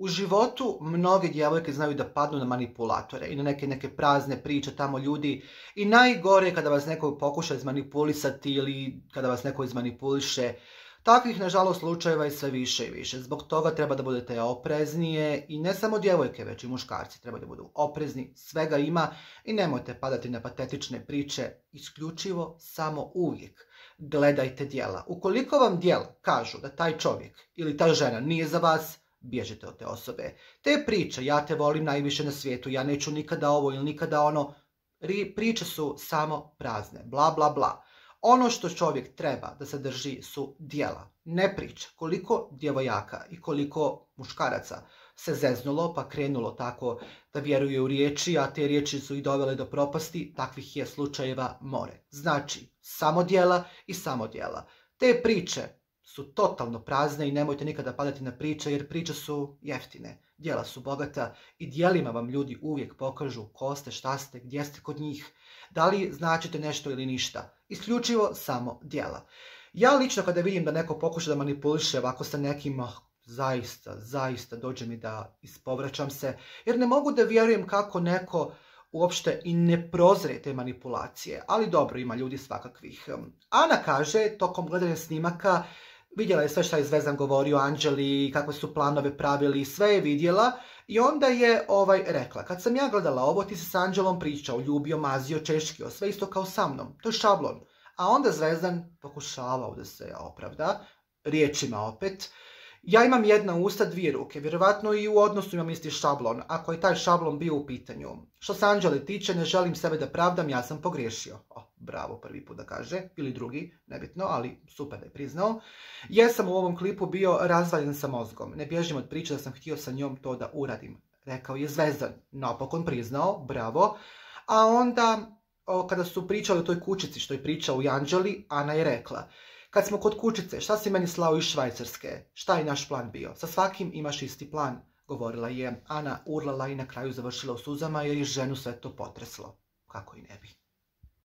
U životu mnoge djevojke znaju da padnu na manipulatore i na neke prazne priče tamo ljudi i najgore je kada vas neko pokuša izmanipulisati ili kada vas neko izmanipuliše. Takvih, nažalost, slučajeva je sve više i više. Zbog toga treba da budete opreznije i ne samo djevojke, već i muškarci treba da budu oprezni. Svega ima i nemojte padati na patetične priče, isključivo samo uvijek. Gledajte djela. Ukoliko vam djela kažu da taj čovjek ili ta žena nije za vas, bježite od te osobe. Te priče, ja te volim najviše na svijetu, ja neću nikada ovo ili nikada ono, priče su samo prazne, bla bla bla. Ono što čovjek treba da se drži su djela, ne priče. Koliko djevojaka i koliko muškaraca se zeznulo pa krenulo tako da vjeruje u riječi, a te riječi su ih dovele do propasti, takvih je slučajeva more. Znači, samo djela i samo djela. Te priče su totalno prazne i nemojte nikada padati na priče jer priče su jeftine. Djela su bogata i djelima vam ljudi uvijek pokažu ko ste, šta ste, gdje ste kod njih, da li značite nešto ili ništa. Isključivo samo djela. Ja lično kada vidim da neko pokuša da manipuliše ovako sa nekim, zaista dođe mi da ispovraćam se, jer ne mogu da vjerujem kako neko uopšte i ne prozre te manipulacije. Ali dobro, ima ljudi svakakvih. Ana kaže, tokom gledanja snimaka, vidjela je sve šta je Zvezdan govorio o Anđeli, kakve su planove pravili, sve je vidjela i onda je rekla, kad sam ja gledala ovo, ti si s Anđelom pričao, ljubio, mazio, češkio, sve isto kao sa mnom, to je šablon. A onda Zvezdan pokušavao da se opravda, riječima opet, ja imam jedna usta, dvije ruke, vjerovatno i u odnosu imam isti šablon, ako je taj šablon bio u pitanju. Što se Anđele tiče, ne želim sebe da pravdam, ja sam pogriješio. Bravo, prvi put da kaže, ili drugi, nebitno, ali super da je priznao. Jesam u ovom klipu bio razvaljen sa mozgom, ne bježim od priče da sam htio sa njom to da uradim. Rekao je Zvezdan, napokon priznao, bravo. A onda, kada su pričali o toj kućici što je pričao u Anđeli, Ana je rekla, kad smo kod kućice, šta si meni slao iz Švajcarske? Šta je naš plan bio? Sa svakim imaš isti plan, govorila je Ana, urlala i na kraju završila u suzama jer je ženu sve to potreslo. Kako i ne bi.